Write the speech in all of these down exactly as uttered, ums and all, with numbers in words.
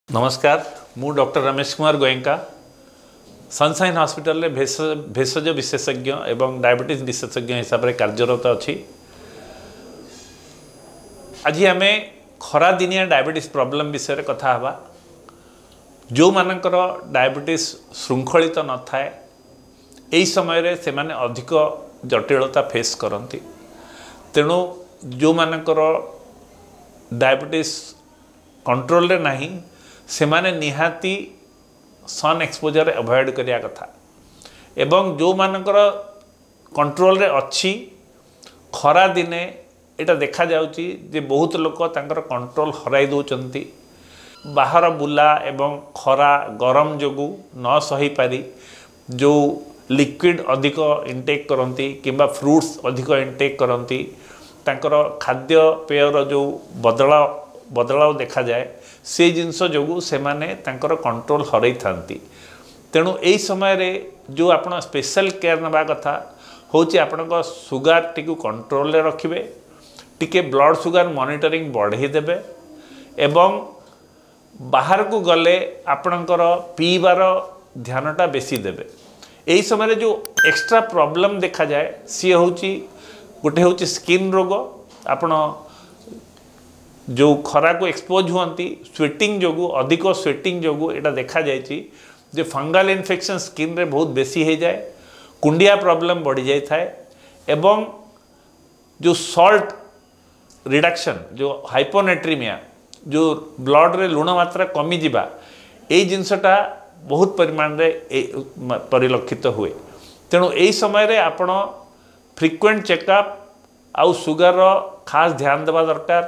ନମସ୍କାର ମୁଁ doctor Ramesh Kumar Goenka sunshine ହସ୍ପିଟାଲରେ ଭେଷଜ ବିଶେଷଜ୍ଞ ଏବଂ ଡାଇବେଟିସ୍ ବିଶେଷଜ୍ଞ ହିସାବରେ କାର୍ଯ୍ୟରତ ଅଛି ଆଜି ଆମେ ଖରାଦିନିଆ ଡାଇବେଟିସ୍ ପ୍ରୋବ୍ଲେମ୍ ବିଷୟରେ କଥା ହେବା ଯେଉଁମାନଙ୍କର ଡାଇବେଟିସ୍ ଶୃଙ୍ଖଳିତ ନଥାଏ ଏହି ସମୟରେ ସେମାନେ ଅଧିକ ଜଟିଳତା ଫେସ୍ କରନ୍ତି ତେଣୁ ଯେଉଁମାନଙ୍କର ଡାଇବେଟିସ୍ କଣ୍ଟ୍ରୋଲରେ ନାହିଁ ସେମାନେ ନିହାତି ସନ୍ ଏକ୍ସପୋଜର୍ ଆଭଏଡ଼ କରିବା କଥା ଏବଂ ଯେଉଁମାନଙ୍କର କଣ୍ଟ୍ରୋଲରେ ଅଛି ଖରାଦିନେ ଏଇଟା ଦେଖାଯାଉଛି ଯେ ବହୁତ ଲୋକ ତାଙ୍କର କଣ୍ଟ୍ରୋଲ ହରାଇ ଦେଉଛନ୍ତି ବାହାର ବୁଲା ଏବଂ ଖରା ଗରମ ଯୋଗୁଁ ନ ସହିପାରି ଯେଉଁ ଲିକ୍ୱିଡ଼ ଅଧିକ ଇନଟେକ୍ କରନ୍ତି କିମ୍ବା ଫ୍ରୁଟ୍ସ ଅଧିକ ଇନଟେକ୍ କରନ୍ତି ତାଙ୍କର ଖାଦ୍ୟପେୟର ଯେଉଁ ବଦଳାव ବଦଳାव ଦେଖାଯାଏ ସେଇ ଜିନିଷ ଯୋଗୁଁ ସେମାନେ ତାଙ୍କର କଣ୍ଟ୍ରୋଲ ହରାଇଥାନ୍ତି ତେଣୁ ଏଇ ସମୟରେ ଯେଉଁ ଆପଣ ସ୍ପେଶାଲ କେୟାର ନେବା କଥା ହେଉଛି ଆପଣଙ୍କ ସୁଗାରଟିକୁ କଣ୍ଟ୍ରୋଲରେ ରଖିବେ ଟିକେ ବ୍ଲଡ଼ ସୁଗାର ମନିଟରିଂ ବଢ଼େଇ ଦେବେ ଏବଂ ବାହାରକୁ ଗଲେ ଆପଣଙ୍କର ପିଇବାର ଧ୍ୟାନଟା ବେଶୀ ଦେବେ ଏହି ସମୟରେ ଯେଉଁ ଏକ୍ସଟ୍ରା ପ୍ରୋବ୍ଲେମ୍ ଦେଖାଯାଏ ସିଏ ହେଉଛି ଗୋଟେ ହେଉଛି ସ୍କିନ୍ ରୋଗ ଆପଣ ଯେଉଁ ଖରାକୁ ଏକ୍ସପୋଜ୍ ହୁଅନ୍ତି ସ୍ୱେଟିଂ ଯୋଗୁଁ ଅଧିକ ସ୍ୱେଟିଂ ଯୋଗୁଁ ଏଇଟା ଦେଖାଯାଇଛି ଯେ ଫଙ୍ଗାଲ ଇନଫେକ୍ସନ୍ ସ୍କିନ୍ରେ ବହୁତ ବେଶୀ ହେଇଯାଏ କୁଣ୍ଡିଆ ପ୍ରୋବ୍ଲେମ୍ ବଢ଼ିଯାଇଥାଏ ଏବଂ ଯେଉଁ ସଲ୍ଟ ରିଡକ୍ସନ୍ ଯେଉଁ ହାଇପୋନେଟ୍ରିମିଆ ଯେଉଁ ବ୍ଲଡ଼ରେ ଲୁଣ ମାତ୍ରା କମିଯିବା ଏଇ ଜିନିଷଟା ବହୁତ ପରିମାଣରେ ପରିଲକ୍ଷିତ ହୁଏ ତେଣୁ ଏଇ ସମୟରେ ଆପଣ ଫ୍ରିକ୍ୱେଣ୍ଟ ଚେକଅପ୍ ଆଉ ସୁଗାରର ଖାସ୍ ଧ୍ୟାନ ଦେବା ଦରକାର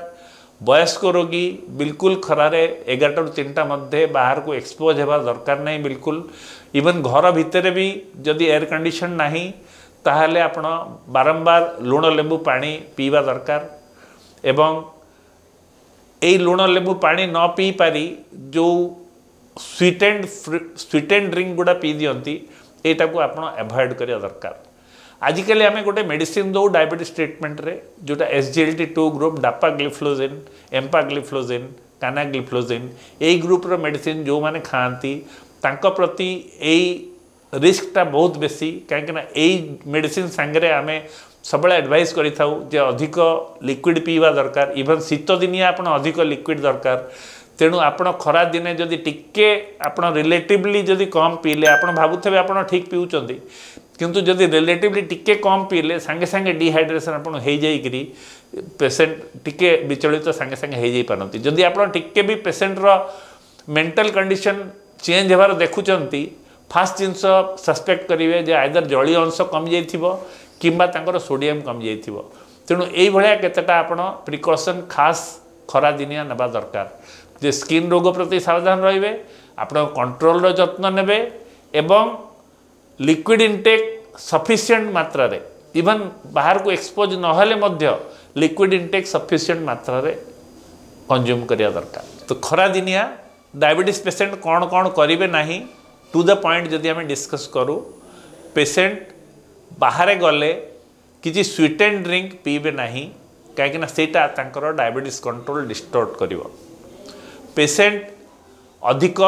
ବୟସ୍କ ରୋଗୀ ବିଲକୁଲ ଖରାରେ ଏଗାରଟାରୁ ତିନିଟା ମଧ୍ୟରେ ବାହାରକୁ ଏକ୍ସପୋଜ୍ ହେବା ଦରକାର ନାହିଁ ବିଲକୁଲ ଇଭେନ୍ ଘର ଭିତରେ ବି ଯଦି ଏୟାର କଣ୍ଡିସନ୍ ନାହିଁ ତାହେଲେ ଆପଣ ବାରମ୍ବାର ଲୁଣ ଲେମ୍ବୁ ପାଣି ପିଇବା ଦରକାର ଏବଂ ଏଇ ଲୁଣ ଲେମ୍ବୁ ପାଣି ନ ପିଇପାରି ଯେଉଁ ସ୍ୱିଟେଣ୍ଡ ସ୍ୱିଟେଣ୍ଡ ଡ୍ରିଙ୍କ ଗୁଡ଼ା ପିଇ ଦିଅନ୍ତି ଏଇଟାକୁ ଆପଣ ଆଭଏଡ଼ କରିବା ଦରକାର ଆଜିକାଲି ଆମେ ଗୋଟେ ମେଡ଼ିସିନ ଦେଉ ଡାଇବେଟିସ୍ ଟ୍ରିଟମେଣ୍ଟରେ ଯେଉଁଟା S G L T two group ଡାପାଗ୍ଲିଫ୍ଲୋଜିନ୍ ଏମ୍ପାଗ୍ଲିଫ୍ଲୋଜିନ୍ କାନାଗ୍ଲିଫ୍ଲୋଜିନ୍ ଏଇ ଗ୍ରୁପ୍ର ମେଡ଼ିସିନ ଯେଉଁମାନେ ଖାଆନ୍ତି ତାଙ୍କ ପ୍ରତି ଏଇ ରିସ୍କଟା ବହୁତ ବେଶୀ କାହିଁକିନା ଏଇ ମେଡ଼ିସିନ ସାଙ୍ଗରେ ଆମେ ସବୁବେଳେ ଆଡ଼ଭାଇସ୍ କରିଥାଉ ଯେ ଅଧିକ ଲିକ୍ୱିଡ଼ ପିଇବା ଦରକାର ଇଭେନ୍ ଶୀତ ଦିନିଆ ଆପଣ ଅଧିକ ଲିକ୍ୱିଡ଼ ଦରକାର ତେଣୁ ଆପଣ ଖରା ଦିନେ ଯଦି ଟିକେ ଆପଣ ରିଲେଟିଭଲି ଯଦି କମ୍ ପିଇଲେ ଆପଣ ଭାବୁଥିବେ ଆପଣ ଠିକ୍ ପିଉଛନ୍ତି କିନ୍ତୁ ଯଦି ରିଲେଟିଭଲି ଟିକେ କମ୍ ପିଇଲେ ସାଙ୍ଗେ ସାଙ୍ଗେ ଡିହାଇଡ୍ରେସନ୍ ଆପଣ ହେଇଯାଇକିରି ପେସେଣ୍ଟ ଟିକେ ବିଚଳିତ ସାଙ୍ଗେ ସାଙ୍ଗେ ହେଇଯାଇପାରନ୍ତି ଯଦି ଆପଣ ଟିକେ ବି ପେସେଣ୍ଟର ମେଣ୍ଟାଲ କଣ୍ଡିସନ୍ ଚେଞ୍ଜ ହେବାର ଦେଖୁଛନ୍ତି ଫାଷ୍ଟ ଜିନିଷ ସସ୍ପେକ୍ଟ କରିବେ ଯେ ଆଇଦର ଜଳୀୟ ଅଂଶ କମିଯାଇଥିବ କିମ୍ବା ତାଙ୍କର ସୋଡ଼ିୟମ୍ କମିଯାଇଥିବ ତେଣୁ ଏଇଭଳିଆ କେତେଟା ଆପଣ ପ୍ରିକସନ୍ ଖାସ୍ ଖରାଦିନିଆ ନେବା ଦରକାର ଯେ ସ୍କିନ୍ ରୋଗ ପ୍ରତି ସାବଧାନ ରହିବେ ଆପଣ କଣ୍ଟ୍ରୋଲର ଯତ୍ନ ନେବେ ଏବଂ ଲିକ୍ୱିଡ଼ ଇନଟେକ୍ ସଫିସିଏଣ୍ଟ ମାତ୍ରାରେ ଇଭନ୍ ବାହାରକୁ ଏକ୍ସପୋଜ୍ ନହେଲେ ମଧ୍ୟ ଲିକ୍ୱିଡ଼ ଇନଟେକ୍ ସଫିସିଏଣ୍ଟ ମାତ୍ରାରେ କନଜ୍ୟୁମ୍ କରିବା ଦରକାର ତ ଖରାଦିନିଆ ଡାଇବେଟିସ୍ ପେସେଣ୍ଟ କ'ଣ କ'ଣ କରିବେ ନାହିଁ ଟୁ the point ଯଦି ଆମେ ଡିସ୍କସ୍ କରୁ ପେସେଣ୍ଟ ବାହାରେ ଗଲେ କିଛି ସ୍ୱିଟେଣ୍ଡ ଡ୍ରିଙ୍କ ପିଇବେ ନାହିଁ କାହିଁକିନା ସେଇଟା ତାଙ୍କର ଡାଇବେଟିସ୍ କଣ୍ଟ୍ରୋଲ ଡିଷ୍ଟର୍ବ କରିବ ପେସେଣ୍ଟ ଅଧିକ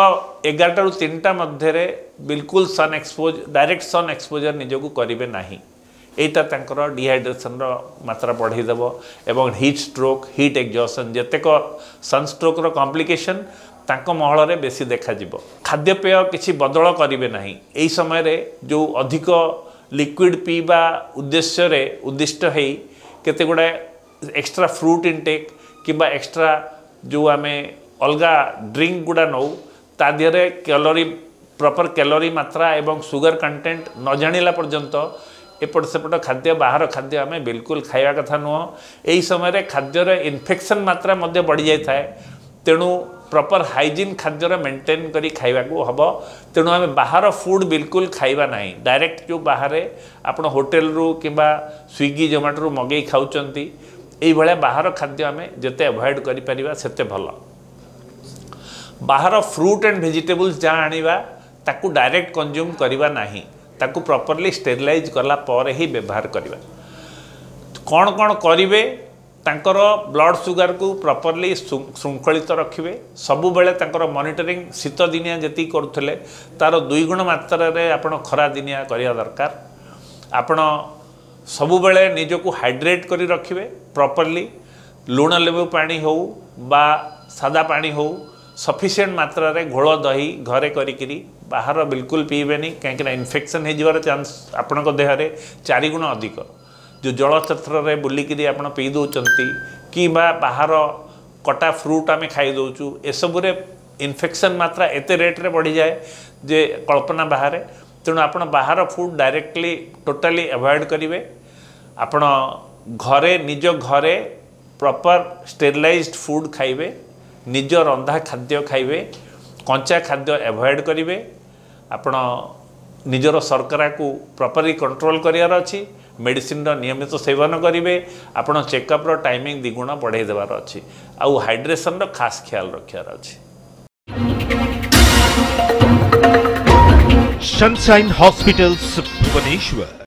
ଏଗାରଟାରୁ ତିନିଟା ମଧ୍ୟରେ ବିଲକୁଲ ସନ୍ ଏକ୍ସପୋଜ୍ ଡାଇରେକ୍ଟ ସନ୍ ଏକ୍ସପୋଜର୍ ନିଜକୁ କରିବେ ନାହିଁ ଏଇଟା ତାଙ୍କର ଡିହାଇଡ୍ରେସନ୍ର ମାତ୍ରା ବଢ଼େଇ ଦେବ ଏବଂ ହିଟ୍ ଷ୍ଟ୍ରୋକ୍ ହିଟ୍ ଏକ୍ଜସନ୍ ଯେତେକ ସନ୍ ଷ୍ଟ୍ରୋକ୍ର କମ୍ପ୍ଲିକେସନ୍ ତାଙ୍କ ମହଳରେ ବେଶୀ ଦେଖାଯିବ ଖାଦ୍ୟପେୟ କିଛି ବଦଳ କରିବେ ନାହିଁ ଏହି ସମୟରେ ଯେଉଁ ଅଧିକ ଲିକ୍ୱିଡ଼ ପିଇବା ଉଦ୍ଦେଶ୍ୟରେ ଉଦ୍ଦିଷ୍ଟ ହେଇ କେତେ ଗୁଡ଼ାଏ ଏକ୍ସଟ୍ରା ଫ୍ରୁଟ୍ ଇନଟେକ୍ କିମ୍ବା ଏକ୍ସଟ୍ରା ଯେଉଁ ଆମେ ଅଲଗା ଡ୍ରିଙ୍କ ଗୁଡ଼ା ନେଉ ତା ଦେହରେ କ୍ୟାଲୋରି ପ୍ରପର୍ କ୍ୟାଲୋରି ମାତ୍ରା ଏବଂ ସୁଗର କଣ୍ଟେଣ୍ଟ ନ ଜାଣିଲା ପର୍ଯ୍ୟନ୍ତ ଏପଟ ସେପଟ ଖାଦ୍ୟ ବାହାର ଖାଦ୍ୟ ଆମେ ବିଲକୁଲ ଖାଇବା କଥା ନୁହଁ ଏହି ସମୟରେ ଖାଦ୍ୟର ଇନଫେକ୍ସନ୍ ମାତ୍ରା ମଧ୍ୟ ବଢ଼ିଯାଇଥାଏ ତେଣୁ ପ୍ରପର୍ ହାଇଜିନ୍ ଖାଦ୍ୟର ମେଣ୍ଟେନ୍ କରି ଖାଇବାକୁ ହେବ ତେଣୁ ଆମେ ବାହାର ଫୁଡ଼୍ ବିଲକୁଲ ଖାଇବା ନାହିଁ ଡାଇରେକ୍ଟ ଯେଉଁ ବାହାରେ ଆପଣ ହୋଟେଲରୁ କିମ୍ବା ସ୍ୱିଗି ଜୋମାଟୋରୁ ମଗେଇ ଖାଉଛନ୍ତି ଏଇଭଳିଆ ବାହାର ଖାଦ୍ୟ ଆମେ ଯେତେ ଆଭଏଡ଼ କରିପାରିବା ସେତେ ଭଲ ବାହାର ଫ୍ରୁଟ୍ ଆଣ୍ଡ ଭେଜିଟେବୁଲ୍ସ ଯାହା ଆଣିବା ତାକୁ ଡାଇରେକ୍ଟ କନଜ୍ୟୁମ୍ କରିବା ନାହିଁ ତାକୁ ପ୍ରପରଲି ଷ୍ଟେରିଲାଇଜ୍ କଲା ପରେ ହିଁ ବ୍ୟବହାର କରିବା କ'ଣ କ'ଣ କରିବେ ତାଙ୍କର ବ୍ଲଡ଼ ସୁଗାରକୁ ପ୍ରପରଲି ଶୃଙ୍ଖଳିତ ରଖିବେ ସବୁବେଳେ ତାଙ୍କର ମନିଟରିଂ ଶୀତ ଦିନିଆ ଯେତିକି କରୁଥିଲେ ତା'ର ଦୁଇଗୁଣ ମାତ୍ରାରେ ଆପଣ ଖରା ଦିନିଆ କରିବା ଦରକାର ଆପଣ ସବୁବେଳେ ନିଜକୁ ହାଇଡ୍ରେଟ୍ କରି ରଖିବେ ପ୍ରପରଲି ଲୁଣ ଲେମ୍ବୁ ପାଣି ହେଉ ବା ସାଦା ପାଣି ହେଉ ସଫିସିଏଣ୍ଟ ମାତ୍ରାରେ ଘୋଳ ଦହି ଘରେ କରିକିରି ବାହାର ବିଲକୁଲ ପିଇବେନି କାହିଁକିନା ଇନଫେକ୍ସନ୍ ହେଇଯିବାର ଚାନ୍ସ ଆପଣଙ୍କ ଦେହରେ ଚାରିଗୁଣ ଅଧିକ ଯେଉଁ ଜଳଛତ୍ରରେ ବୁଲିକିରି ଆପଣ ପିଇ ଦେଉଛନ୍ତି କିମ୍ବା ବାହାର କଟା ଫ୍ରୁଟ୍ ଆମେ ଖାଇ ଦେଉଛୁ ଏସବୁରେ ଇନଫେକ୍ସନ୍ ମାତ୍ରା ଏତେ ରେଟ୍ରେ ବଢ଼ିଯାଏ ଯେ କଳ୍ପନା ବାହାରେ ତେଣୁ ଆପଣ ବାହାର ଫୁଡ଼୍ ଡାଇରେକ୍ଟଲି ଟୋଟାଲି ଆଭଏଡ଼ କରିବେ ଆପଣ ଘରେ ନିଜ ଘରେ ପ୍ରପର୍ ଷ୍ଟେରିଲାଇଜ୍ଡ ଫୁଡ଼୍ ଖାଇବେ ନିଜ ରନ୍ଧା ଖାଦ୍ୟ ଖାଇବେ କଞ୍ଚା ଖାଦ୍ୟ ଆଭଏଡ଼ କରିବେ ଆପଣ ନିଜର ଶର୍କରାକୁ ପ୍ରପରଲି କଣ୍ଟ୍ରୋଲ କରିବାର ଅଛି ମେଡ଼ିସିନର ନିୟମିତ ସେବନ କରିବେ ଆପଣ ଚେକଅପ୍ର ଟାଇମିଂ ଦ୍ୱିଗୁଣ ବଢ଼େଇ ଦେବାର ଅଛି ଆଉ ହାଇଡ୍ରେସନର ଖାସ୍ ଖିଆଲ ରଖିବାର ଅଛି Sunshine Hospitals, Bhubaneswar.